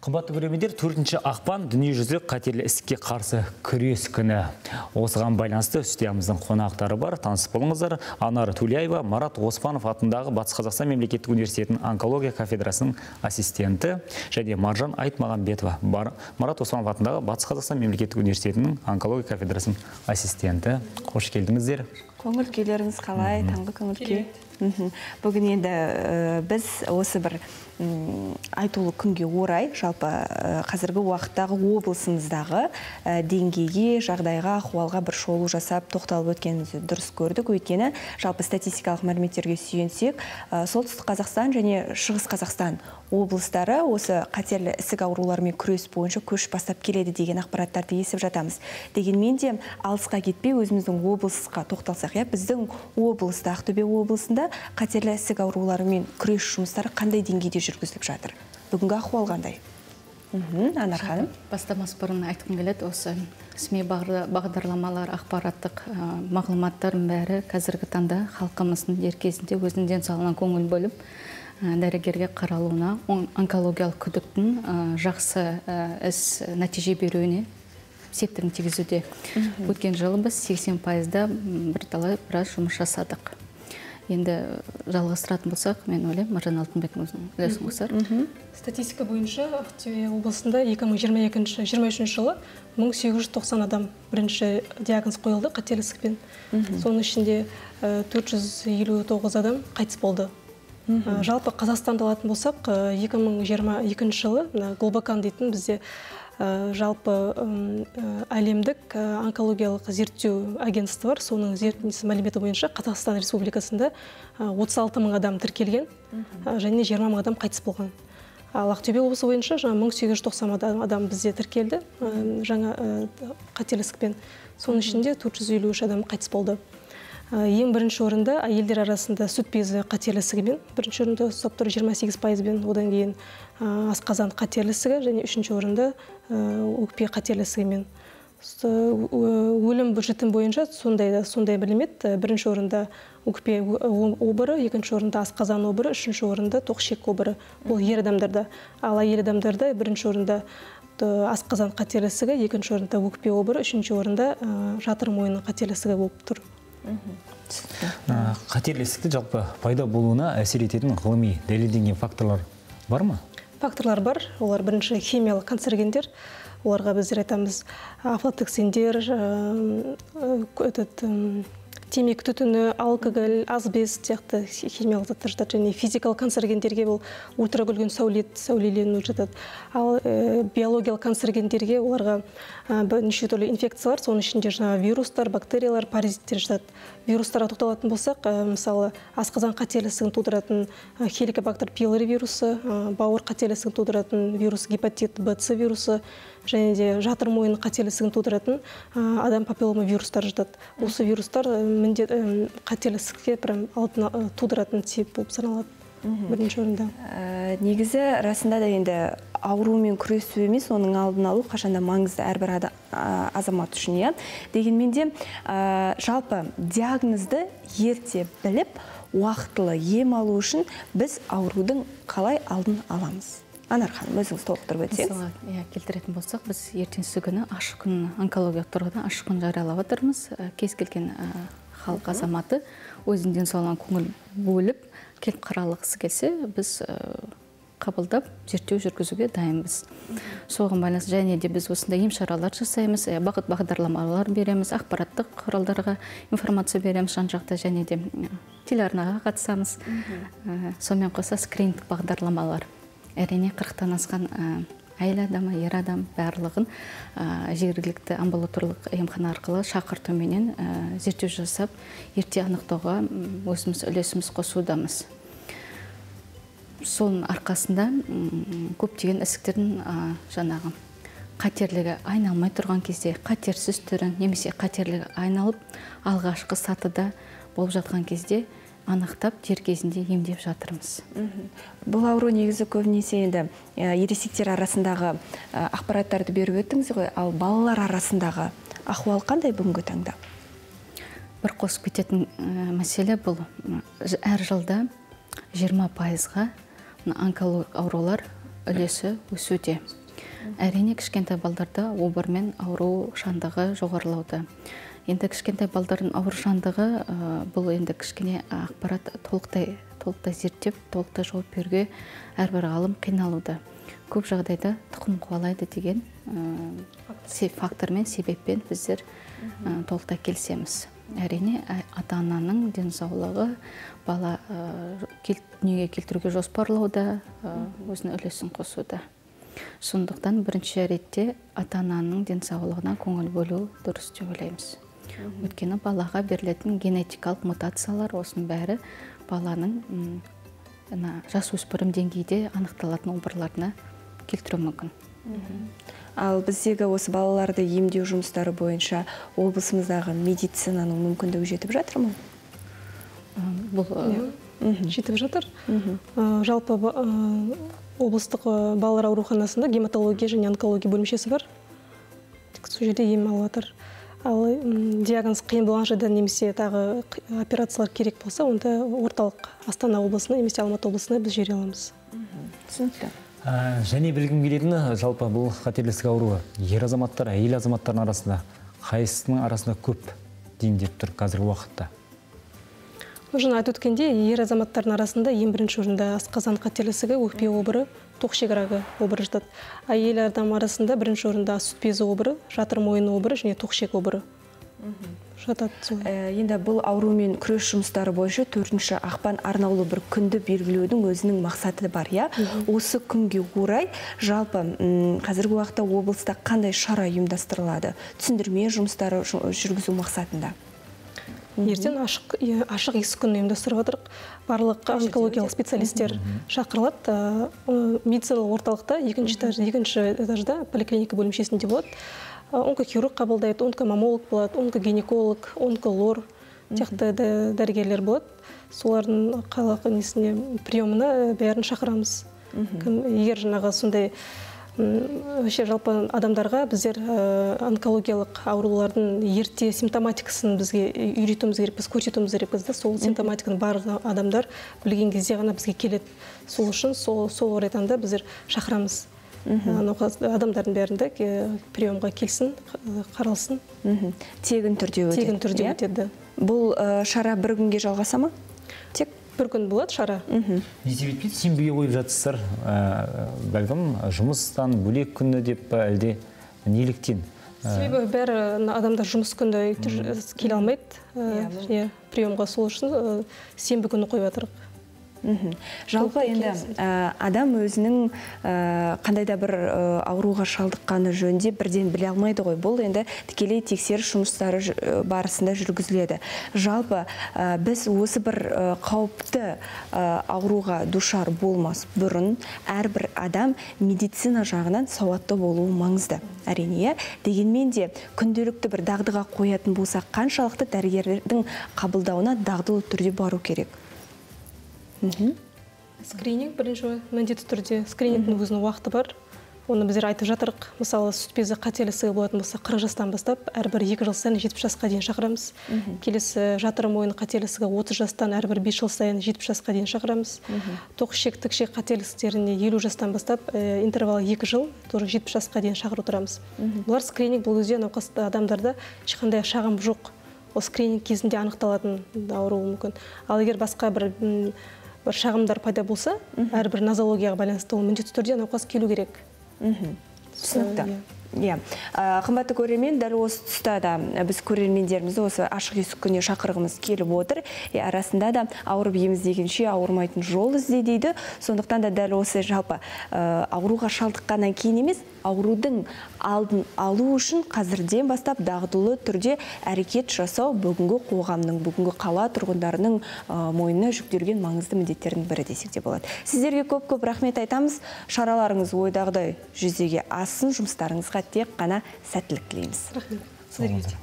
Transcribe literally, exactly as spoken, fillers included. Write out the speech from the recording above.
Қымбатты көрермендер, төртінші ақпан дүниежүзілік қатерлі ісікке қарсы күрес күні. Осыған байланысты студиямыздың қонақтары бар. Танысып болыңыздар. Анар Тулеева, Марат Оспанов атындағы Батыс Қазақстан мемлекеттік университетінің онкология кафедрасының ассистенті және Маржан Айтмағамбетова, Марат Оспанов атындағы Батыс Қазақстан мемлекеттік университетінің онкология кафедрасының ассистенті. Қош келдіңіздер. Көңіл күйлеріңіз қалай? Таңғы көңіл күй. Бүгін енді біз осы бір айтулы күнге орай, жалпы қазіргі уақыттағы облысымыздағы деңгейге, жағдайға, ахуалға бір шолу жасап, тоқталып өткенімізді дұрыс көрдік. Өйткені жалпы статистикалық мәліметтерге сүйенсек, Солтүстік Қазақстан және Шығыс Қазақстан облыстары осы қатерлі ісік ауруларымен күрес бойынша көш бастап келеді деген ақпараттарды естіп жатамыз. Дегенмен де алысқа кетпей өзіміздің облысқа тоқталсақ, я біздің облыста, Ақтөбе облысында қатерлі ісік ауруларымен күрес жұмыстары қандай деңгейде жүргізіліп жатыр? Бүгінгі ахуал қандай? Анар ханым. Бастамас бұрын айтқым келеді, осы СМИ бағдарламалар, ақпараттық мағлұматтардың бәрі қазіргі таңда халқымыздың дер кезінде өзінің денсаулығына көңіл бөліп, дәрігерге қаралуына, онкологиялық күдіктің жақсы іс нәтиже беруіне септігін тигізуде. Өткен жылы біз сексен пайызда бірталай біраз жұмыс жасадық. Енді жалғастыратын болсақ, мен ойлаймын, Маржан Алтынбектің үлесін қосар. Статистика бойынша Ақтөбе облысында екі мың жиырма үшінші жылы мың сегіз жүз тоқсан адам бірінші диагноз қойылды қатерлі ісікпен. Соның ішінде төрт жүз елу тоғыз адам қайтыс болды. Жалпы Қазақстанды алатын болсақ, екі мың жиырма екінші жылы Глобокан дейтін бізде жалпы әлемдік онкологиялық зерттеу агентство бар. Соның зерттеу мәліметі бойынша Қазақстан Республикасында отыз алты мың адам тіркелген және жиырма мың адам қайтыс болған. Ал Ақтөбе облысы бойынша мың сегіз жүз тоқсан адам бізде тіркелді жаңа қатерлі ісікпен. Соның ішінде төрт жүз елу үш адам қайтыс болды. Ең бірінші орында әйелдер арасында сүт безі қатерлі ісігімен, бірінші орында ұстап тұр жиырма сегіз пайызбен, одан кейін асқазан қатерлі ісігі және үшінші орында өкпе қатерлі ісігімен. Өлім жітім бойынша сондай сондай мәлімет. Бірінші орында өкпе обыры, екінші орында асқазан обыры, үшінші орында тоқшек обыры. Бұл ер адамдарда. Ал әйел адамдарда бірінші орында асқазан қатерлі ісігі, екінші орында өкпе обыры, үшінші орында жатыр мойны қатерлі ісігі болып тұр. Қатерлі ісікті жалпы пайда болуына әсер ететін ғылыми дәлелденген факторлар бар ма? Факторлар бар. Олар бірінші химиялық канцерогендер. Оларға біздер айтамыз афлатоксиндер, темекі түтіні, алкоголь, асбест сияқты химиялық заттар жатады. Және физикалық канцерогендерге бұл ультракүлгін сәулелену жатады. Ал биологиялық канцерогендерге оларға неше түрлі инфекциялар, соның ішінде жаңа вирустар, бактериялар, паразиттер жатады. Вирустарға тоқталатын болсақ, мысалы, асқазан қатерлі ісігін тудыратын хеликобактер пилори вирусы, бауыр қатерлі ісігін тудыратын вирус гепатит Б С вирусы, және де жатыр мойны қатерлі ісігін тудыратын адам папиллома вирустар жатады. Осы вирустар міндет қатерлі ісікке алдын тудыратын себеп болып саналады бірінші орында. Негізі расында да енді аурумен күресу емес, оның алдын алу қашанда маңызды әрбір азамат үшін, иә. Дегенмен де жалпы диагнозды ерте біліп, уақытылы ем алу үшін біз аурудың қалай алдын аламыз? Анар ханым, өзіңіз толықтырып өтсеңіз. Мысалы, келтіретін болсақ, біз ертеңгі күні ашық күн, онкологиялық тұрғыдан ашық күн жариялап отырмыз. Кез келген халық азаматы өзінің денсаулығына көңіл бөліп, келіп қаралғысы келсе, біз қабылдап, зерттеу жүргізуге дайынбыз. Соған байланысты және де біз осындай ем шаралар жасаймыз, бағыт бағдарламалар береміз, ақпараттық құралдарға информация береміз жан-жақта, және де телеарнаға қатысамыз. Сонымен қоса скринингтік бағдарламалар. Әрине қырықтан асқан әйел адамы, ер адам барлығын жергілікті амбулаторлық емхана арқылы шақыртуменен зерттеу жасап, ерте анықтауға өзіміз үлесіміз қосудамыз. Соның арқасында көптеген ісіктердің жаңағы қатерлігі айналмай тұрған кезде, қатерсіз түрін, немесе қатерлігі айналып, алғашқы сатыда болып жатқан кезде анықтап, дер кезінде емдеп жатырмыз. Бұл ауру негізі көбінесе енді ересектер арасындағы ақпараттарды беріп өттіңіз ғой, ал балалар арасындағы ахуал қандай бүгінгі таңда? Бір қосып кететін мәселе бұл. Әр жылда жиырма пайызға онкологиялық аурулар үлесі өсуде. Әрине кішкентай балдарда обырмен ауру шандығы жоғарылауда. Енді кішкентай балдардың ауыр шандығы бұл енді кішкене ақпарат толықтай толықтай зерттеп, толықтай жауап беруге әрбір ғалым қиналуда. Көп жағдайда тұқым қуалайды деген фактормен, себеппен біздер толықтай келісеміз. Әрине ата-ананың денсаулығы бала дүниеге келтіруге жоспарлауда, өзінің үлесін қосуда. Сондықтан бірінші ретте ата-ананың денсаулығына көңіл бөлу дұрыс деп ойлаймыз. Өйткені балаға берілетін генетикалық мутациялар осының бәрі баланың жасөспірім деңгейде анықталатын обырларына келтіруі мүмкін. Ал біздегі осы балаларды емдеу жұмыстары бойынша облысымыздағы медицинаның мүмкіндігі жетіп жатыр ма? Бұл жетіп жатыр. Жалпы облыстық балалар ауруханасында гематология және онкология бөлімшесі бар. Сол жерде ем алып жатыр. Ал диагноз қиын болған жерде немесе тағы операциялар керек болса, онда орталық Астана облысына, немесе Алматы облысына біз жібере аламыз. Түсінікті. Және білгім келетіні, жалпы бұл қатерлі ісік ауруы ер азаматтар, әйел азаматтардың арасында қайсысының арасында көп дейін деп тұр қазіргі уақытта? Жаңа айтып өткенде, ер азаматтардың арасында ең бірінші орында асқазан қатерлі ісігі, өкпе обыры, тоқ-ішек рагы обыры жатады. Әйел адам арасында бірінші орында сүт безі обыры, жатыр мойын обыры және тоқ-ішек обыры жатады. Енді бұл аурумен күрес жұмыстары бойынша төртінші ақпан арнаулы бір күнді белгілеудің өзінің мақсаты бар, я? Осы күнге орай жалпы қазіргі уақытта облыста қандай шара ұйымдастырылады? Түсіндірме жұмыстары жүргізу мақсатында? Ертең ашық есік күні ұйымдастырып отырық. Барлық онкологиялық специалистер шақырылады. Медициналық орталықта екінші этажда поликлиника бөлімшесінде болады. Онкохирург қабылдайды, онкомамолог болады, онкогинеколог, онколор, текті дәрігерлер болады. Солардың қалақ приемына бәрін шақырамыз. Егер жаңағы сондай жалпы адамдарға біздер онкологиялық аурулардың ерте симптоматикасын бізге үйретуіміз керек, біз көрсетуіміз керек бізді. Сол симптоматиканы бар адамдар білген кезде ғана бізге келеді. Сол үшін сол орайдан да біздер шақырамыз. Адамдардың бәрінде приемға келсін, қаралсын. Тегін түрде өтеді. Тегін түрде өтеді. Бұл шара бір күнге жалғаса ма? Тек бір күн болады шара. Не себеппен сенбіге қойып жатсыздар? Бәлкім жұмыстан бөлек күні деп әлде неліктен? Себебі бәрі адамдар жұмыс күнді келе алмайды. Приемға сол үшін сенбі күні қойып жатырық. Жалпы енді адам өзінің қандайда бір ауруға шалдыққаны жөнінде бірден біле алмайды ғой. Бұл енді тікелей тексеріс жұмыстары барысында жүргізіледі. Жалпы біз осы бір қауіпті ауруға душар болмас бұрын әрбір адам медицина жағынан сауатты болуы маңызды. Әрине, дегенмен де күнделікті бір дағдыға қоятын болсақ, қаншалықты дәрігерлердің қабылдауына дағдылы түрде бару керек? Скрининг бірінші міндетті түрде. Скринингтің өзінің уақыты бар. Оны біздер айтып жатырық. Мысалы, сүт безі қатерлі ісігі болатын болса, қырық жастан бастап, әрбір екі жыл сайын жетпіс жасқа дейін шақырамыз. Келесі жатыр мойын қатерлі ісігі отыз жастан әрбір бес жыл сайын жетпіс жасқа дейін шақырамыз. Тоқ-ішек, тік-ішек қатерлі ісіктеріне елу жастан бастап, интервалы екі жыл, жетпіс жасқа дейін шақырып отырамыз. Бұлар скрининг бұл кезде науқасты адамдарда ешқандай шағым жоқ. Ол скрининг кезінде анықталатын ауруы мүмкін. Ал егер басқа бір бір шағымдар пайда болса, әрбір нозологияға байланысты ол міндетті түрде науқас келу керек. Түсінікті. Қымбатты көрермен, дәл осы тұста да біз көрермендерімізді осы ашық есік күніне шақырғымыз келіп отыр. Арасында да ауырып ем іздегенше ауырмайтын жол ізде дейді. Сондықтан да дәл осы жалпы ауруға шалдыққаннан кейін емес, аурудың алдын алу үшін қазірден бастап дағдылы түрде әрекет жасау бүгінгі қоғамның, бүгінгі қала тұрғындарының мойнына жүктелген маңызды міндеттердің бірі десек те болады. Сіздерге көп-көп рахмет айтамыз. Шараларыңыз ойдағыдай жүзеге ассын, жұмыстарыңызға тек қана сәттілік тілейміз. Рахмет. Сіздерге.